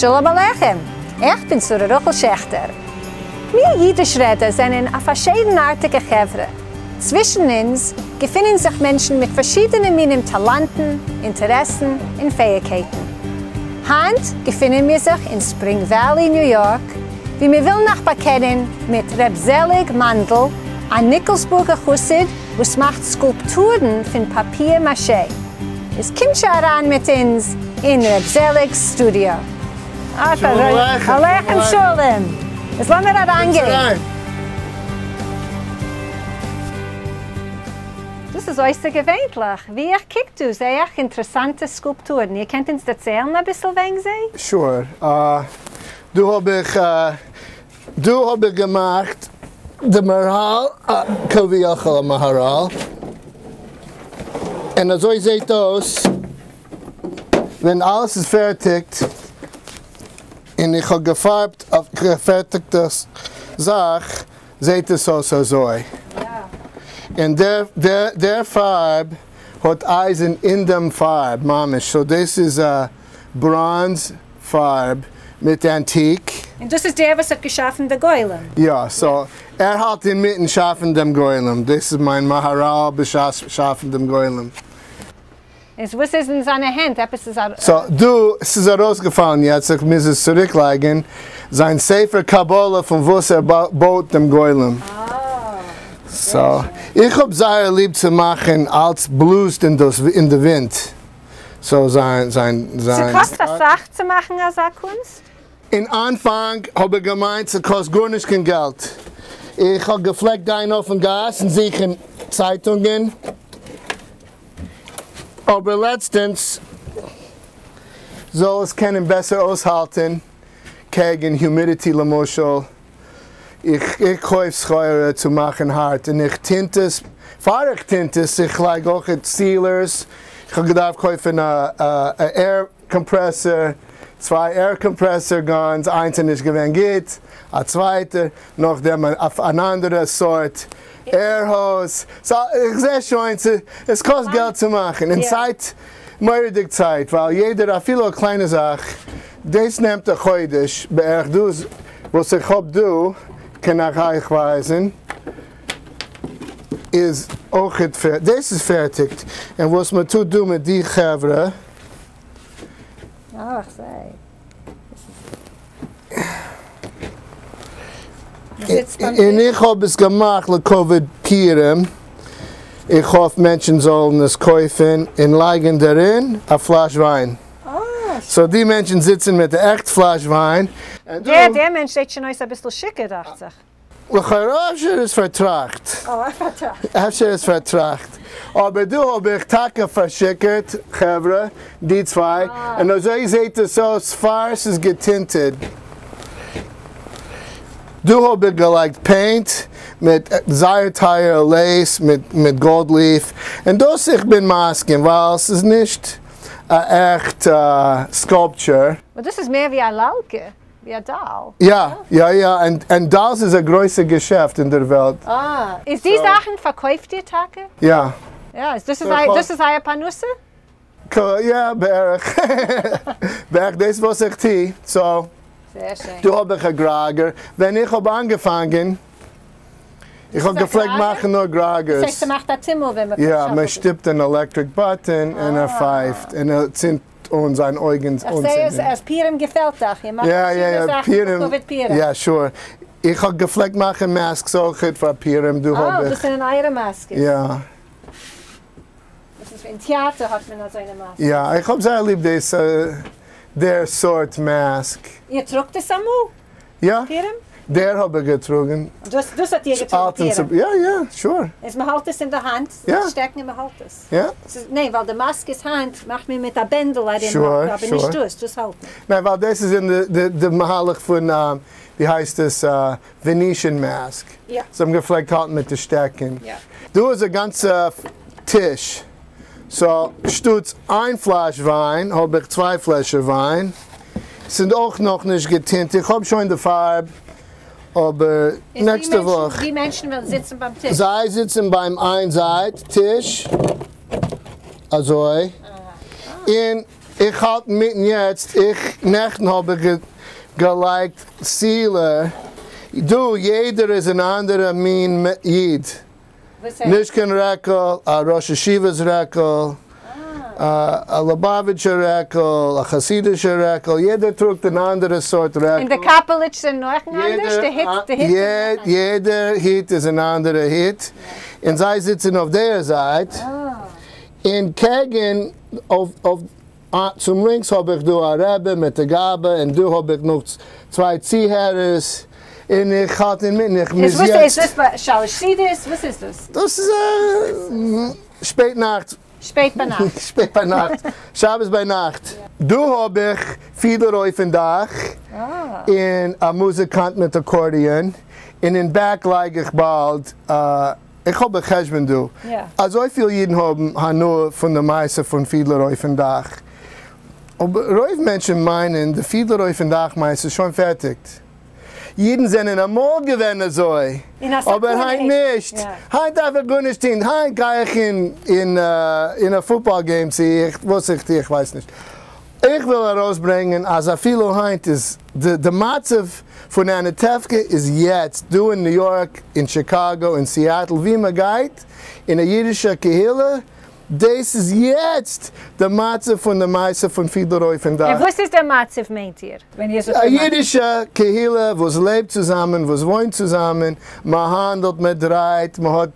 שלום עליכם! איך בין שרה רחל שעכטער. מיר אידיש רעדער זענען א פארשיידנארטיגע חברה. צווישן אונז געפינען זיך מענטשן מיט פארשידענע מינים טאלאנטן, אינטערעסן און פעאיגקייטן. היינט געפינען מיר זיך אין ספרינג וואלי, ניו יארק, ווי מיר ווילן אייך באקענען מיט ר' זעליג מאנדל, א ניקלשבורגער חסיד וואס מאכט סקולפטורן פון פאפיר מאשע. איז קומט זשע אריין מיט אונז אין ר' זעליג'ס סטודיאו. שלום עליכם! עליכם שלום! איז לאמיר אריינגיין. דאס איז אויסערגעווענליך. ווי איך קוק דא זעה איך אינטערעסאנטע סקולפטורן. איר קענט אונז דערציילן אביסל וועגן זיי? Sure. דא האב איך דא האב איך געמאכט די מהרל, כביכול א מהרל, און אזוי זעהט אויס ווען אלעס איז פערטיגט, און איך האב געפארבט אויף געפערטיגטע זאך זעהט עס אויס אזוי, און דער פארב האט אייזן אין דעם פארב ממש, so דאס איז א בראנז פארב מיט antique. און דאס איז דער וואס האט געשאפן די גולם? יא, so ער האלט אינמיטן שאפן דעם גולם, דאס איז מיין מהרל בשעת שאפן דעם גולם. איז וואס איז אין זיינע הענט? עפעס איז א. So דא, ס'איז ארויסגעפאלן יעצט, איך מוז עס צוריק לייגן, זיין ספר קבלה פון וואס ער בויט דעם גולם. So, איך האב זייער ליב צו מאכן אלץ בלאזט אין די ווינט. So זיין זיין זיין. ס'קאסט אסאך צו מאכן אזא קונסט? אין אנפאנג האב איך געמיינט ס'קאסט גארנישט קיין געלט. איך האב געפלעגט גיין אויפן גאס און זוכן צייטונגען. אבער לעצטענס זאל עס קענען בעסער אויסהאלטען קעגן humidity למשל, איך קויף סחורה צו מאכן הארט און איך tint עס, פאר איך tint עס, איך לייג אויכעט sealers, איך האב געדארפט קויפן א air compressor, צוויי air compressor guns, איינס איז נישט געווען גוט, א צווייטע, נאכדעם אן אנדערע סארט air hose, so איך זע שוין עס קאסט געלט צו מאכן, און צייט, מורא'דיג צייט, ווייל יעדער אפילו א קליינע זאך, דאס נעמט א חודש בערך, דאס וואס איך האב דא קען איך אייך ווייזן איז אויכעט פערטיג, דאס איז פערטיג, און וואס מען טוט דא מיט די חברה. אה, איך זעה. און איך האב עס געמאכט לכבוד פורים, איך האף מענטשן זאלן עס קויפן און לייגן דערין א פלאש וויין. So די מענטשן זיצן מיט די עכט פלאש וויין. דער מענטש זעט שוין אויס אביסל שיכור דאכט זיך. לכאורה אפשר איז פארטראכט. אה, פארטראכט. אפשר איז פארטראכט. אבער דא האב איך טאקע פארשיכורט חברה, די צוויי, און אזוי זעהט עס אויס פאר ס'איז געטינטעד. דא האב איך געלייגט paint מיט זייער טייערע lace מיט gold leaf, און דאס איך בין מסכים ווייל ס'איז נישט א עכט sculpture. דאס איז מער ווי א לאלקע. ווי א doll. יא יא יא, און dolls איז א גרויסע געשעפט אין דער וועלט. אה, איז די זאכן פארקויפט איר טאקע? יא. יא, איז דאס דאס איז אייער פרנסה? יא, בערך. בערך דאס וואס איך טו, so. זייער שיין. דא האב איך א גראגער, ווען איך האב אנגעפאנגען, איך האב געפלעגט מאכן נאר גראגערס. דאס הייסט ס'מאכט א טומל ווען מ'קוקט. יא, מ'שטופט אן electric button און ער פייפט און ער צינדט אן זיין אויגן איך זעה אז אז פורים געפעלט אייך, איר מאכט פארשידענע זאכן לכבוד פורים. יא sure, איך האב געפלעגט מאכן masks אויכעט פאר פורים, דא האב איך. אה, דאס זענען אייערע מאסקעס? יא. דאס איז אין טעאטער האט מען אזוינע מאסקעס. יא, איך האב זייער ליב דאס דער סארט mask. איר טראגט עס אמאל? יא. פורים? דער האב איך געטראגן. דאס דאס האט איר געטראגן פורים? יא יא, sure. איז מען האלט עס אין די האנט, שטעקן און מען האלט עס. יא. ניין, ווייל די מאסקעס היינט מאכט מען מיט א בענדל ארום האלט, אבער נישט דאס, דאס האלט מען. ניין, ווייל דאס איז אין די מהלך פון, ווי הייסט עס, Venetian mask. יא. זיי האבן געפלעגט האלטן מיט די שטעקן. יא. דא איז א גאנצע טיש. So, שטאטס איין פלאש וויין האב איך צוויי פלעשער וויין. ס'איז אויך נאכנישט געטינט, איך האב שוין די פארב, אבער נעקסטע וואך. די מענטשן וועלן זיצן ביים טיש? זיי זיצן ביים איין זייט טיש, אזוי, און. איך האלט אינמיטן יעצט, איך נעכטן האב איך געלייגט sealer, דא יעדער איז אן אנדערע מין איד, נישט קיין רעקל, א ראש ישיבה'ס רעקל, א ליובאוויטשער רעקל, א חסידישער רעקל, יעדער טראגט אן אנדערע סארט רעקל. און די קאפעליטש זענען אויך אנדערש? די היט די היט זענען אויך אנדערש? יעדער היט איז אן אנדערע היט, און זיי זיצן אויף דער זייט, און קעגן אויף צום לינקס האב איך דא א רבי מיט א גבאי, און דא האב איך נאך צוויי צוהערערס, און איך האלט אינמיטן, איך מוז יעצט. איז דאס ביי שלש סעודות? וואס איז דאס? דאס איז שפעט נאכט. שפעט ביינאכט. שפעט ביינאכט, שבת ביינאכט. דא האב איך פידלער אויפן דאך, און א מוזיקאנט מיט accordion, און אין back לייג איך באלד, איך האב א חשבון דא, אזויפיל אידן האבן הנאה פון די מעשה פון פידלער אויפן דאך, אבער רוב מענטשן מיינען די פידלער אויפן דאך מעשה איז שוין פערטיגט. אידן זענען אמאל געווען אזוי, אבער היינט נישט, היינט דארף איך גארנישט טון, היינט גיי איך אין א football game צו איך וואס איך טו איך ווייס נישט. איך וויל ארויסברענגען אז אפילו היינט איז די מצב פון אנוטעווקע איז יעצט דא אין ניו יארק, אין שיקאגא, אין סיאטל, ווי מען גייט אין א אידישע קהילה, דאס איז יעצט די מצב פון די מעשה פון פידלער אויפן דאך. און וואס איז דער מצב מיינט איר ווען איר זאגט א דער מצב? אידישע קהילה וואס לעבט צוזאמען, וואס וואוינט צוזאמען, מען האנדלט, מען דרייט, מען האט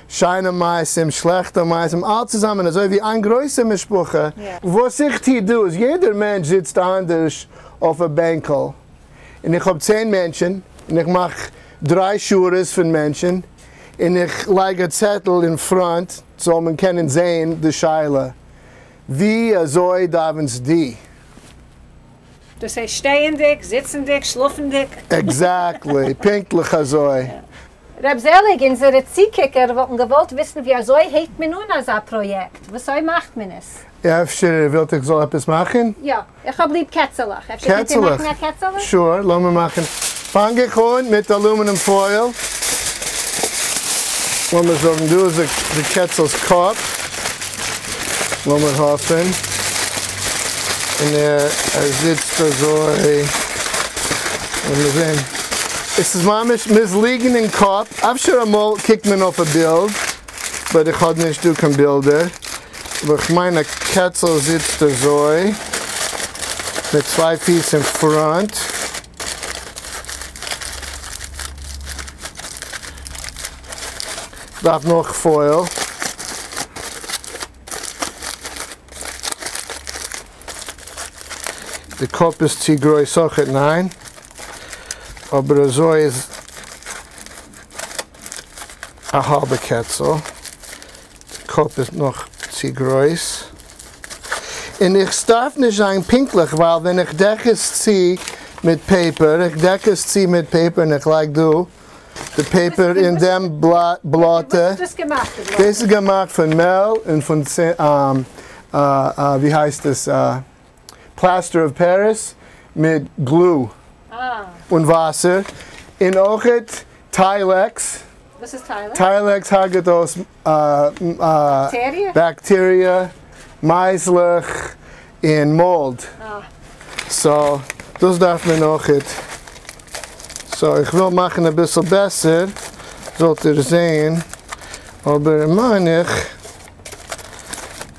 שיינע מעשים, שלעכטע מעשים, אלץ צוזאמען אזוי ווי איין גרויסע משפחה. וואס איך טוה דא איז יעדער מענטש זיצט אנדערש אויף א בענקל, און איך האב 10 מענטשן, און איך מאך דריי שורות פון מענטשן, און איך לייג א צעטל אין front זאל מען קענען זעהן די שאלה, ווי אזוי דאווענסט די? דאס הייסט שטייענדיג, זיצנדיג, שלאפנדיג. Exactly, פונקטליך אזוי. ר' זעליג, אונזערע צוקוקער וואלטן געוואלט וויסן ווי אזוי הייבט מען אן אזא פראיעקט? וואסוי מאכט מען עס? אפשר איר ווילט איך זאל עפעס מאכן? יא, איך האב ליב קעצעלעך, אפשר קענט איר מאכן א קעצעלע? Sure, לאמיר מאכן. פאנג איך אן מיט aluminum foil. לאמיר זאגן דא איז די קעצל'ס קאפ. לאמיר האפן. און ער זיצט אזוי. לאמיר זען. עס איז ממש מוז ליגן אין קאפ. אפשר אמאל קוקט מען אויף א בילד. But איך האב נישט דא קיין בילדער. אבער איך מיין א קעצל זיצט אזוי, מיט צוויי פיס אין front. דארף נאך foil. די קאפ איז צו גרויס אויכעט, ניין? אבער אזוי איז א האלבע קעצל. די קאפ איז נאך צו גרויס. און איך דארף נישט זיין פונקטליך ווייל ווען איך דעק עס צו מיט paper, איך דעק עס צו מיט paper און איך לייג דא די paper אין דעם בלאטע. וואס איז דאס געמאכט די בלאטע? דאס איז געמאכט פון מעל און פון ווי הייסט עס plaster of Paris מיט glue און וואסער און אויכעט Tilex. וואס איז Tilex? Tilex הרג'ט אויס באקטעריע, מייזלעך און mold. So דאס דארף מען אויכעט. So איך וויל מאכן אביסל בעסער זאלט איר זעהן, אבער מיין איך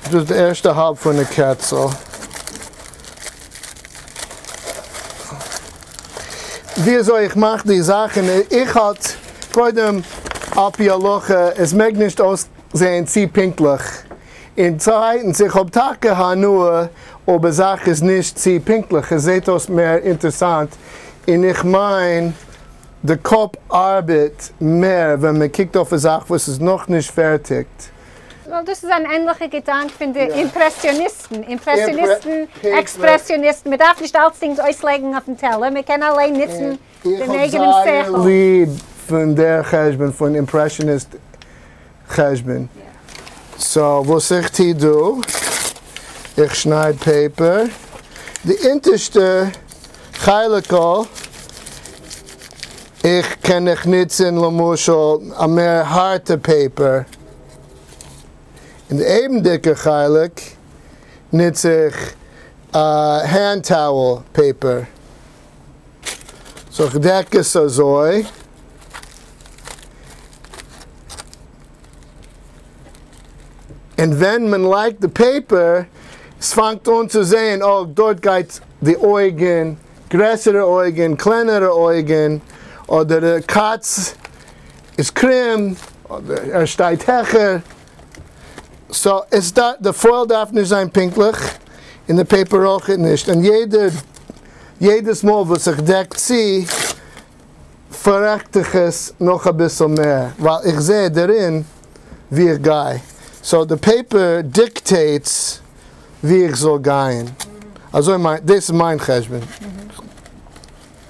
דאס איז די ערשטע האלב פון די קעצל. ווי אזוי איך מאך די זאכן, איך האלט קודם על פי הלכה עס מעג נישט אויסזעהן צו פונקטליך, און צווייטנס איך האב טאקע הנאה אויב א זאך איז נישט צו פונקטליך, עס זעהט אויס מער אינטערסאנט, און איך מיין די קאפ ארבעט מער ווען מען קוקט אויף א זאך וואס איז נאכנישט פערטיגט. Well, דאס איז אן ענליכע געדאנק פון די אימפרעסיאניסטן, אימפרעסיאניסטן, עקספרעסיאניסטן, מען דארף נישט אלצדינג אויסלייגן אויפן טעלער, מען קען אליין נוצן דעם אייגענעם איך האב זייער שכל. ליב פון דער חשבון, פון impressionist חשבון. So וואס איך טוה דא, איך שנייד paper, די אונטערשטע חלק'ל איך קען איך נוצן למשל א מער הארטע paper, און די אויבנדיגע חלק נוץ איך hand towel paper. So איך דעק עס אזוי. און ווען מען לייגט די paper, עס פאנגט אן צו זעהן, oh, דארט גייט די אויגן, גרעסערע אויגן, קלענערע אויגן, אדער די קאץ איז קרום, אדער ער שטייט העכער. So עס דארף, די foil דארף נישט זיין פונקטליך, און די paper אויכעט נישט, און יעדע, יעדעס מאל וואס איך דעק צו, פאררעכט איך עס נאך אביסל מער, ווייל איך זע דערין ווי איך גיי. So די paper dictates ווי איך זאל גיין. אזוי מיין, דאס איז מיין חשבון.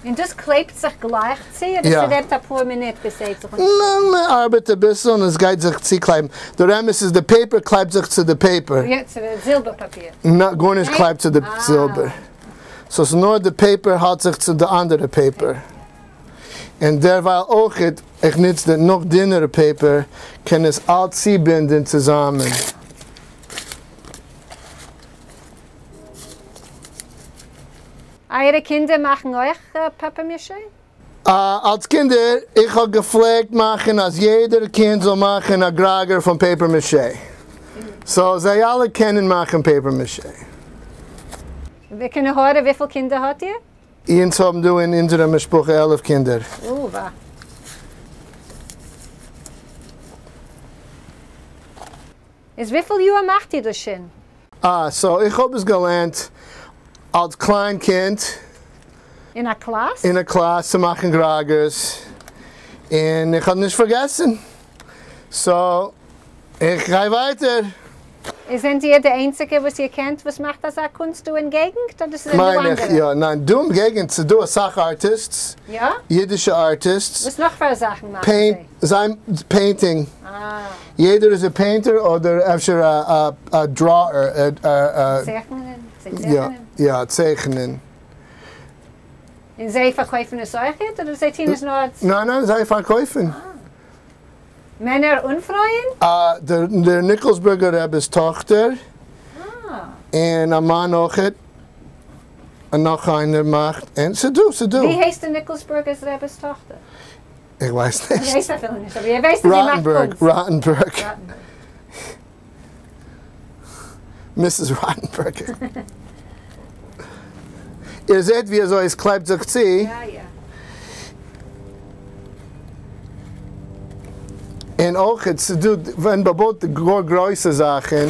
און דאס קלעבט זיך גלייך צו אדער יא. ס'נעמט אפאר מינוט ביז ס'הייבט זיך אן? ניין, מען ארבעט אביסל און עס גייט זיך צוקלעבן. דער אמת איז די paper קלעבט זיך צו די paper. יא, צו די זילבער פאפיר. נא, גארנישט ניין? קלעבט צו די זילבער. So ס'איז נאר די paper האלט זיך צו די אנדערע paper. און דערווייל אויכעט, איך נוץ די נאך דינערע paper, קען עס אלץ צובינדען צוזאמען. אייערע קינדער מאכן אויך פאפער-מאשע? אלס קינדער, איך האב געפלעגט מאכן אז יעדער קינד זאל מאכן א גראגער פון paper mache. So זיי אלע קענען מאכן paper mache. קיין עין הרע, וויפיל קינדער האט איר? אונז האבן דא אין אונזערע משפחה 11 קינדער. אוה. איז וויפיל יאר מאכט איר דאס שוין? אה, so איך האב עס געלערנט אלס קליין קינד. אין א קלאס? אין א קלאס צו מאכן גראגערס, און איך האב נישט פארגעסן. So איך גיי ווייטער. איז זענט איר די איינציגע וואס איר קענט וואס מאכט אזא קונסט דא אין געגנט, אדער ס'זענען דא מיין איך, אנדערע? יא, ניין, דא אין געגנט ס'איז דא אסאך artists, יא? אידישע artists. וואס נאך פאר זאכן מאכן זיי? זיי painting. אה. יעדער איז א painter אדער אפשר א drawer, א. צייכענען? זיי יא, צייכענען? יא, צייכענען. און זיי פארקויפן עס אויכעט אדער זיי טוהן עס נאר אלס. ניין ניין, זיי פארקויפן. אה. מענער און פרויען? דער ניקלשבורגער רבי'ס טאכטער. אה. און א מאן אויכעט. און נאך איינער מאכט. און ס'דא, ס'דא. ווי הייסט דער ניקלשבורגער רבי'ס טאכטער? איך ווייס נישט. איך ווייס אפילו נישט, אבער איר ווייסט אז זי מאכט קונסט. ראטענבערג, ראטענבערג. ראטענבערג. Mrs. ראטענבערג. איר זעט ווי אזוי עס קלעבט זיך צו? יא יא. און אויך ס'איז דא ווען מ'בויט די גאר גרויסע זאכן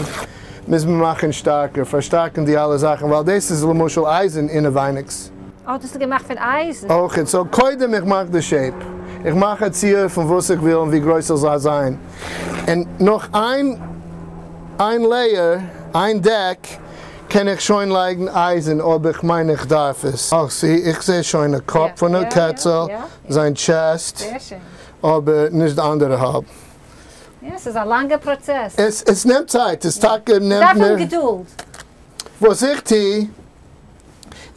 מוז מען מאכן שטארקער, פארשטארקן די אלע זאכן, ווייל דאס איז למשל אייזן אינעווייניגס. אה, דאס איז געמאכט פון אייזן. אויך, so קודם איך מאך די shape, איך מאך א ציור פון וואס איך וויל און ווי גרויס עס זאל זיין, און נאך איין איין layer, איין דעק, קען איך שוין לייגן אייזן אויב איך מיין איך דארף עס. אה, see, איך זע שוין א קאפ פון א קעצל, זיין chest, אבער נישט די אנדערע האלב. יא, ס'איז א לאנגע פראצעס. עס עס נעמט צייט, עס טאקע נעמט מ'דארף מער. האבן געדולד. וואס איך טו,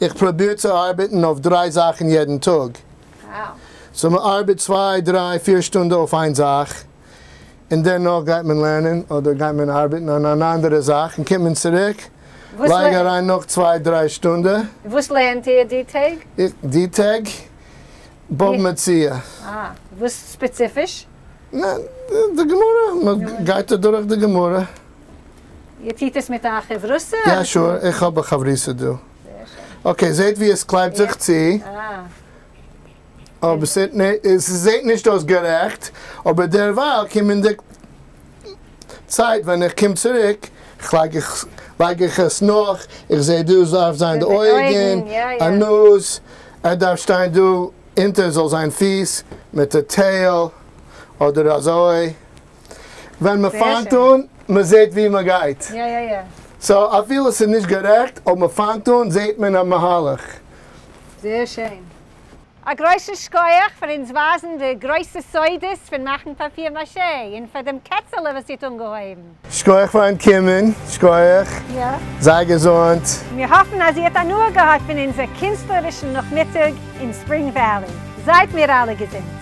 איך פרוביר צו ארבעטן אויף דריי זאכן יעדן טאג. So מ'ארבעט צוויי, דריי, פיר שטונדע אויף איין זאך, און דערנאך גייט מען לערנען, אדער גייט מען ארבעטן אן אן אנדערע זאך, און קומט מען צוריק, לייג אריין נאך צוויי דריי שטונדע. וואס לערנט איר די טעג? איך, די טעג? בבא מציעא. אה, וואס ספעציפיש? ניין, די גמרא, מען גייט אדורך די גמרא. איר טוט עס מיט א חברותא? יא sure, איך האב א חברותא דא. זייער שיין. Okay, זעט ווי עס קלעבט זיך צו. אה. אבער עס זעט נישט אויס גערעכט, אבער דערווייל קומען די צייט ווען איך קום צוריק, לייג איך לייג איך עס נאך, איך זע דא דארף זיין די אויגן, א נאז, ער דארף שטיין דא אונטער זאל זיין פיס מיט א tail, אדער אזוי, ווען מען פאנגט אן, מען זעט ווי מען גייט. So אפילו עס איז נישט גערעכט, אויב מען פאנגט אן זעט מען א מהלך. זייער שיין. א גרויסן שכוח פאר אונז ווייזן די גרויסע סודות פון מאכן פאפיר מאשע, און פאר דעם קעצעלע וואס איר האט אנגעהויבן. שכוח פארן קומען, שכוח. יא. זיי געזונט. מיר האפן אז איר האט הנאה געהאט פון אונזער קינסטלערישן נאכמיטאג אין ספרינג וואלי. זייט מיר אלע געזונט.